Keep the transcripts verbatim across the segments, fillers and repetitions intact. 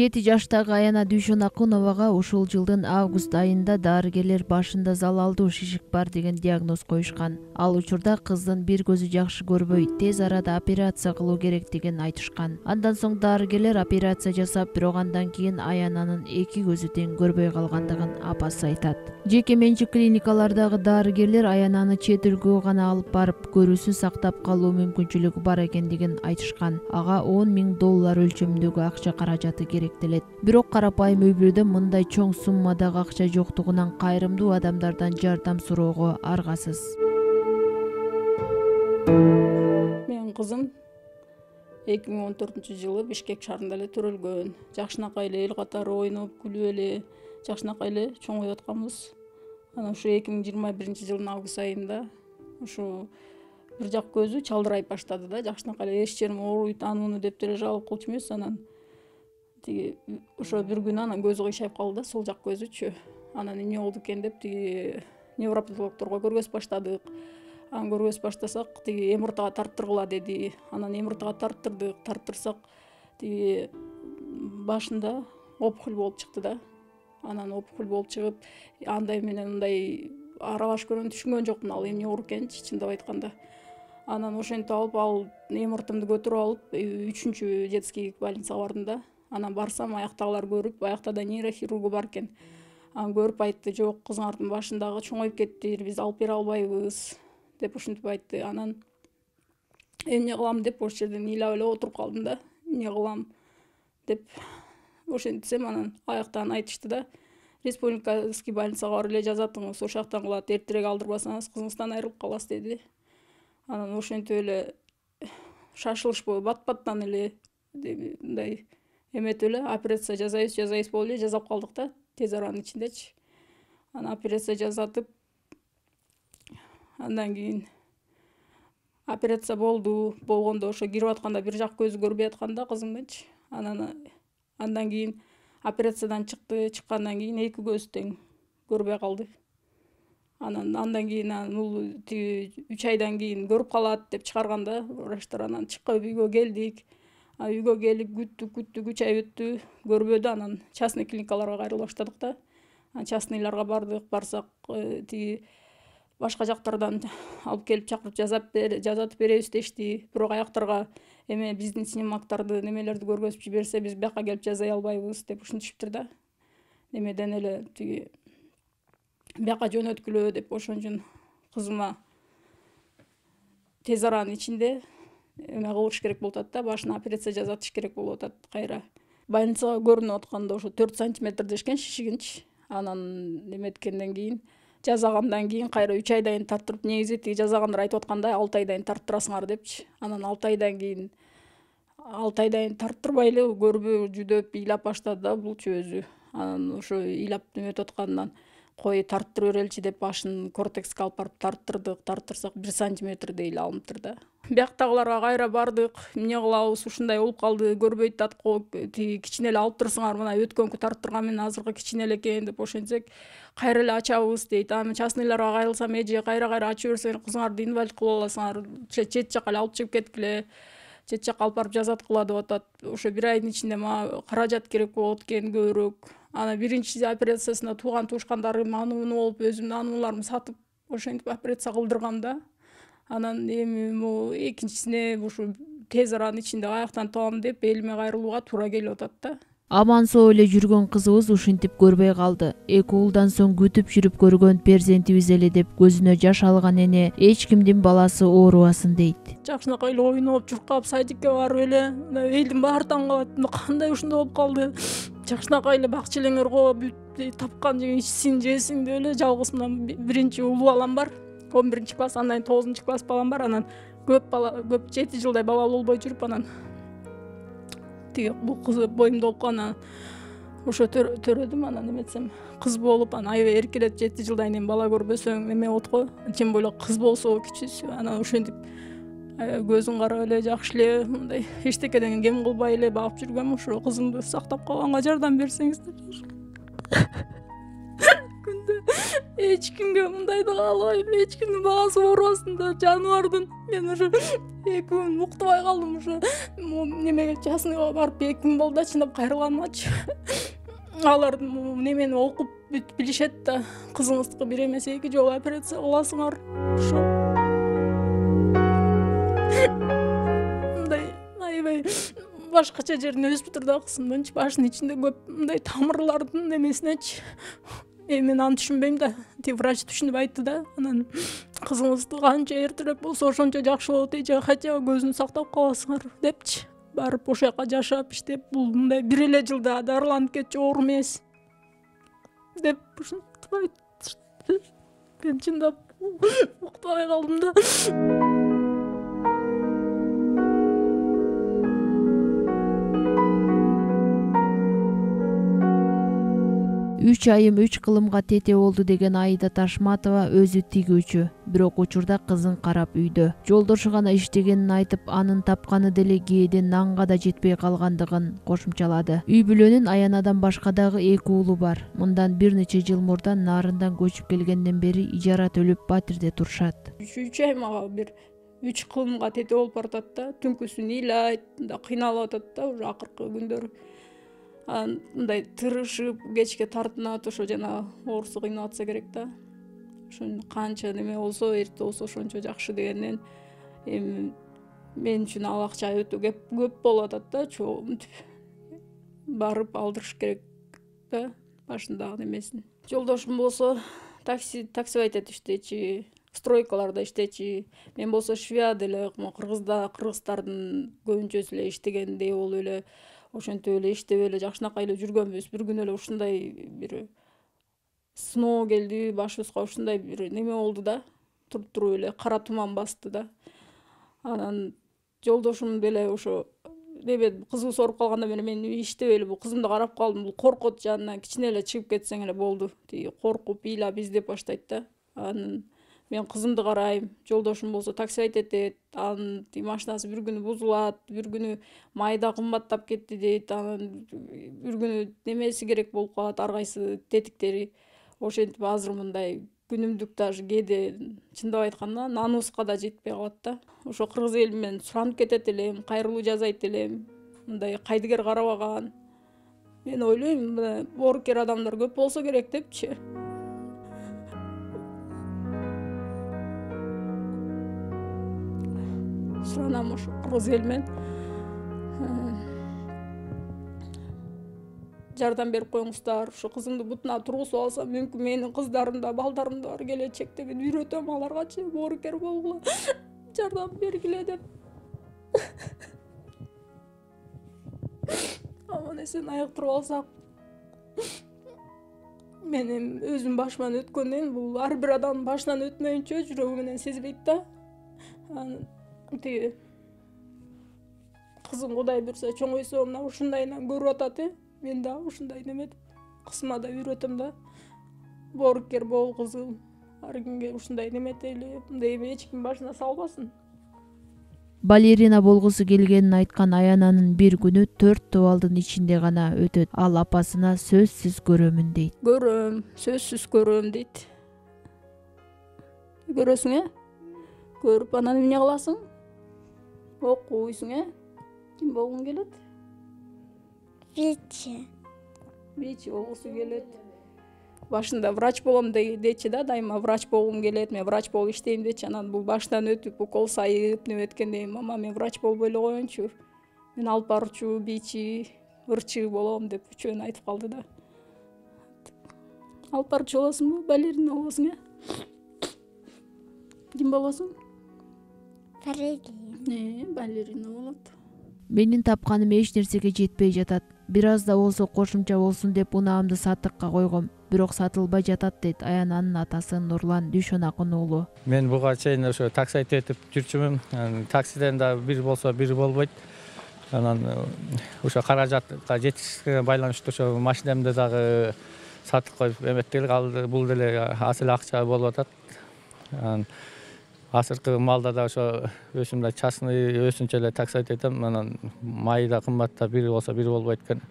жети жаштагы Аяна Дүйшөнакуновага ушул жылдын август айында дарыгерлер башында залалдуу шишик бар деген диагноз коюшкан. Ал учурда кыздын бир көзү жакшы көрбөй, тез арада операция кылуу керектигин айтышкан. Андан соң дарыгерлер операция жасап, бирок андан кийин Аянанын эки көзү тең көрбөй калгандыгын апасы айтат. Жеке менчик клиникалардагы дарыгерлер Аянаны чет өлкөгө гана алып барып, көрүүсүн сактап калуу мүмкүнчүлүгү бар экендигин айтышкан. Ага он миң доллар өлчөмүндөгү акча каражаты керектелет. Бирок карапайым үй бүлөдө мындай чоң суммадагы акча жоктугунан кайрымдуу адамдардан жардам суроого аргасыз. Менин кызым эки миң он төртүнчү жылы Бишкек шаарында эле төрөлгөн. Жакшынакай эле эл катары ойноп, күлүп эле, жакшынакай эле чоңоюп атканбыз. Анан ушу эки миң жыйырма биринчи жылдын август айында ушу бир жак көзү чалдырайып баштады да. Жакшынакай эле эч жерим ооруйт, ануну деп деле жалып кылчу эмес. Анан тиги ошо бир күнү анан көзү кыйшайып калды да, сол жак көзүчү. Анан эмне болду экен деп тиги невропатологторго көргөзүп баштадык. Анан көргөзүп баштасак, тиги эм эр тэга тарттыргыла деди. Анан эм эр тэга тарттырдык. Тарттырсак, тиги башында опухоль болуп чыкты да. Анан опухоль болуп чыгып, андай менен мындай аралаш көргөн түшүнгөн жокмун ал эмне оор экенинчи, чындап айтканда. Анан ошентип алып, ал эм эр тэмди көтөрүп алып, үчүнчү детский больницага бардым да. Анан барсам, аяктагылар көрүп, аякта да нейрохирургу бар экен. Анан көрүп айтты, жок, кызыңардын башындагы чоңоюп кетти, биз алып бере албайбыз деп ушинтип айтты. Анан эмне кылам деп ошол жерден ыйлап эле отуруп калдым да. Эмне кылам деп ошентсем, анан аяктан айтышты да, республикаский больницага барып эле жазатыңыз, ошол жактан кылат, эртерээк алдырбасаңыз кызыңыздан айрылып каласыз деди. Анан ошентип эле шашылышпай бат-баттан эле мындай эметип эле операция жасайбыз, жасайбыз болуп эле жасап калдык да, тез аранын ичиндечи. Анан операция жасатып, андан кийин операция болду. Болгондо ошо кирип атканда бир жак көзү көрбөй аткан да кызымдынчы. Анан андан кийин операциядан чыкты. Чыккандан кийин эки көзү тең көрбөй калды. Анан андан кийин бул тиги үч айдан кийин көрүп калат деп чыгарганда врачтар, анан чыккып үйгө келдик. Үйгө келип күттүк, күттүк, үч ай өттү, көрбөдү. Анан частный клиникаларга кайрыла баштадык да. Анан частныйларга бардык, барсак тиги башка жактардан алып келип чакырып жасап жасатып беребиз дешти. Бирок аяктарга эме биздин снимоктарды, немелерди көргөзүп жиберсе, биз бияка келип жасай албайбыз деп ушинтишиптир да. Немеден эле тиги бияка жөнөткүлө деп ошон үчүн кызыма тез аранын ичинде эме кылыш керек болуп атат да, башына операция жасатыш керек болуп атат кайра. Больницага көрүнүп атканда ошо төрт сантиметр дешкен шишигинчи. Анан неметкенден кийин, жасагандан кийин кайра үч айдан тарттырып, негизи тиги жасагандар айтып аткандай алты айдан тарттырасыңар депчи. Анан алты айдан кийин алты айдан тарттырбай эле көрбөй жүдөп ыйлап баштады да булчу өзү. Анан ошо ыйлап неметип аткандан кой тарттыра береличи деп башын кортекске алып барып тарттырдык. Тарттырсак бир сантиметрдей эле алыныптыр да. Бияктагыларга кайра бардык. Эмне кылабыз, ушундай болуп калды, көрбөйт атат го, тиги кичине эле алып турсуңар, мына өткөнкү тарттырган менен азыркы кичине эле экен деп ошентсек, кайра эле ачабыз дейт. Анан частныйларга кайрылсам, эже кайра-кайра ачып берсең, кызыңарды инвалид кылып аласыңар, чет жакка эле алып чыгып кеткиле, чет жакка алып барып жасаткыла деп атат. Ошо бир айдын ичинде мага каражат керек болот экен көбүрөөк. Анан биринчи операциясында тууган туушкандарым анууну болуп, өзүмдүн анууларымды сатып, ошентип операция кылдыргам да. Анан эми могу экинчисине ушу тез аранын ичинде аяктан табам деп элиме кайрылууга туура келип атат да. Аман соо эле жүргөн кызыбыз ушинтип көрбөй калды. Эки уулдан соң күтүп жүрүп көргөн перзентибиз эле деп көзүнө жаш алган эне эч кимдин баласы оорубасын дейт. Жакшынакай эле ойноп, чуркап, садикке барып эле, элдин баары таң калат. Кандай ушундай болуп калды? Жакшынакай эле бак челеңер го, бүт тапкан жеген ичсин, жесин деп эле жалгыз мына биринчи улуу балам бар. он биринчи класс, андан кийин тогузунчу класс балам бар. Анан көп бала, көп жети жылдай бала болбой жүрүп, анан тиги бул кызы боюмда болуп калган. Ошо төрөдүм, анан эметсем кыз болуп, анан аябай эркелет, жети жылдан кийин бала көрбөсөң эме болот го. Тем более кыз болсо кичүүсү. Анан ошентип көзүн карап эле, жакшы эле, мындай эчтекеден кем кылбай эле багып жүргөм. Ошо кызымды сактап калганга жардам берсеңиздер. Күндө эч кимге мындайды каалабайм, эч кимдин баасы оорубасын да, жаныбардын. Мен уже эки күн уктубай калдым, уже немеге частныйга барып эки күн болду да, чындап кайрылганымачы. Алар немени окуп бүтүп билишет да, кызыңыздыкы бир эмес эки жолу операция кыласыңар. Ошо мындай аябай башкача жерин өсүп тур да, кызымдынчы башынын ичинде көп мындай тамырлардын немесинечи. Эми мен аны түшүнбөйм да. Тиги врач түшүнүп айтты да. Анан кызыңызды канча эртерээк болсо ошончо жакшы болот, эже хотя бы көзүн сактап каласыңар депчи. Барып ошол жака жашап иштеп, бул мындай бир эле жылда дарыланып кетчү оор эмес деп ушинтип айтты. Мен чындап уктабай калдым да. үч айым үч кылымга тете болду деген Аида Ташматова өзү тигүүчү, бирок учурда кызын карап үйдө. Жолдошу гана иштегенин айтып, анын тапканы деле кээде нанга да жетпей калгандыгын кошумчалады. Үй бүлөнүн Аянадан башка дагы эки уулу бар. Мындан бир нече жыл мурда Нарындан көчүп келгенден бери ижара төлөп батирде турушат. үч ай мага бир үч кылымга тете болуп баратат да, түнкүсүн ыйлайт, мындай кыйналып атат да, уже акыркы күндөрү. Анан мындай тырышып, кечке тартынат, ошо жана оорусу кыйнап атса керек да. Ошон канча неме болсо, эрте болсо ошончо жакшы дегенден, эми мен үчүн ал акча өтө көп болуп атат да, чогуу барып алдырыш керек да, башындагы немесин. Жолдошум болсо такси таксивайт иштечи, стройкаларда иштечи. Мен болсо швея деле, кыргызда кыргыздардын көбүнчөсү эле иштегендей болуп эле, ошентип эле иштеп эле жакшынакай эле жүргөнбүз. Бир күнү эле ушундай бир сыноо келди, башыбызга ушундай бир неме болду да, туруп туруп эле кара туман басты да. Анан жолдошум деле ошо неме кызыбыз ооруп калгандан бери мен иштебей эле бул кызымды карап калдым. Бул коркот жанынан кичине эле чыгып кетсең эле болду. Тиги коркуп, ыйлап издеп баштайт да. Анан мен кызымды карайм, жолдошум болсо таксивайт этет, анын машинасы бир күнү бузулат, бир күнү майда кымбаттап кетти дейт, анан бир күнү немеси керек болуп калат, ар кайсы тетиктери. Ошентип азыр мындай күнүмдүк даже кээде чындап айтканда наныбызга да жетпей калат да. Ошо кыргыз эли менен суранып кетет элем, кайрылуу жасайт элем, мындай кайдыгер карабаган. Мен ойлойм, мына боорукер адамдар көп болсо керек депчи. Суранам ошо кыргыз эл менен жардам берип коюңуздар, ушу кызымды бутуна тургузуп алсам, мүмкүн менин кыздарым да, балдарым да бар келечекте, мен үйрөтөм аларгачы боорукер болгула, жардам бергиле деп. Аман эсен айыктырып алсак. Мен өзүм башыман өткөндөн, бул ар бир адамдын башынан өтмөйүнчө жүрөгү менен сезбейт да. Тиги кызым Кудай буйрса чоңойсо мына ушундайынан көрүп атат, э. Мен да ушундай неметип кызыма да үйрөтөм да. Боорукер бол кызым. Ар кимге ушундай неметели, мындай эми эч ким башына салбасын. Балерина болгусу келгенин айткан Аянанын бир күнү төрт тубалдын ичинде гана өтөт. Ал апасына сөзсүз көрөмүн дейт. Көрөм, сөзсүз көрөм дейт. Көрөсүң, э? Көрүп анан эмне кыласың? Окуйсуң, э? Ким болгуң келет? Бичи. Бичи болгусу келет. Башында врач болом дечи да, дайыма врач болгум келет, мен врач болуп иштейм дечи. Анан бул башынан өтүп, укол сайып, неметкенден кийин, мама мен врач болбой эле коеюнчу. Мен алып баруучу, бичи, ырчы болом деп үчөөнү айтып калды да. Алып баруучу болосуңбу, балерина болосуң, э? Ким болосуң? Балерина. Э, балерина болот. Менин тапканым эч нерсеге жетпей жатат. Бир аз да болсо кошумча болсун деп унаамды сатыкка койгом, бирок сатылбай жатат дейт Аянанын атасы Нурлан Дүйшөнакын уулу. Мен буга чейин ошо таксайт этип жүрчүмүн. Таксиден да бир болсо бир болбойт. Анан ошо каражатка жетишке байланыштуу ошо машинемди дагы сатып коюп эметтелик алды. Бул деле аз эле акча болуп атат. Анан азыркы малда да ошо өзүмдө частный өзүнчө эле таксайт этем. Анан май да кымбаттап, бир болсо бир болбойт экен.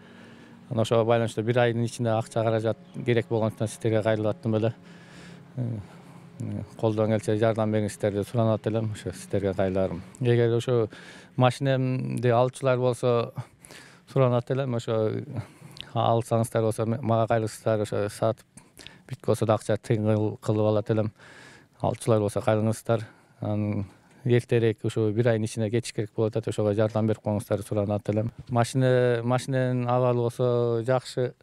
Анан ошого байланыштуу бир айдын ичинде акча каражат керек болгондуктан сиздерге кайрылып аттым эле. колдон келсе жардам бериңиздер деп суранат элем. Ошо сиздерге кайрыларым. Эгер ошо машинемди алуучулар болсо суранат элем, ошо алсаңыздар болсо мага кайрылсаңыздар, ошо сатып бүткө болсо да акча тыйын кылып алат элем. Алуучулар болсо кайрылыңыздар. Анан эртерээк ошо бир айдын ичинде кетиш керек болуп атат. Ошого жардам берип коюңуздар суранат элем. Машина машиненин абалы болсо жакшы.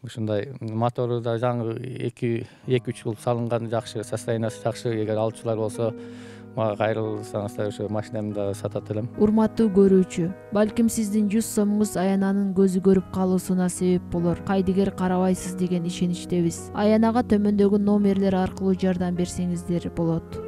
Ушундай мотору да жаңы эки үч жыл салынган, жакшы, состояниясы жакшы. Эгер алуучулар болсо мага кайрылсаңыздар, ошо машинемди да сатат элем. Урматтуу көрүүчү, балким сиздин жүз сомуңуз Аянанын көзү көрүп калуусуна себеп болор. Кайдыгер карабайсыз деген ишеничтебиз. Аянага төмөндөгү номерлер аркылуу жардам берсеңиздер болот.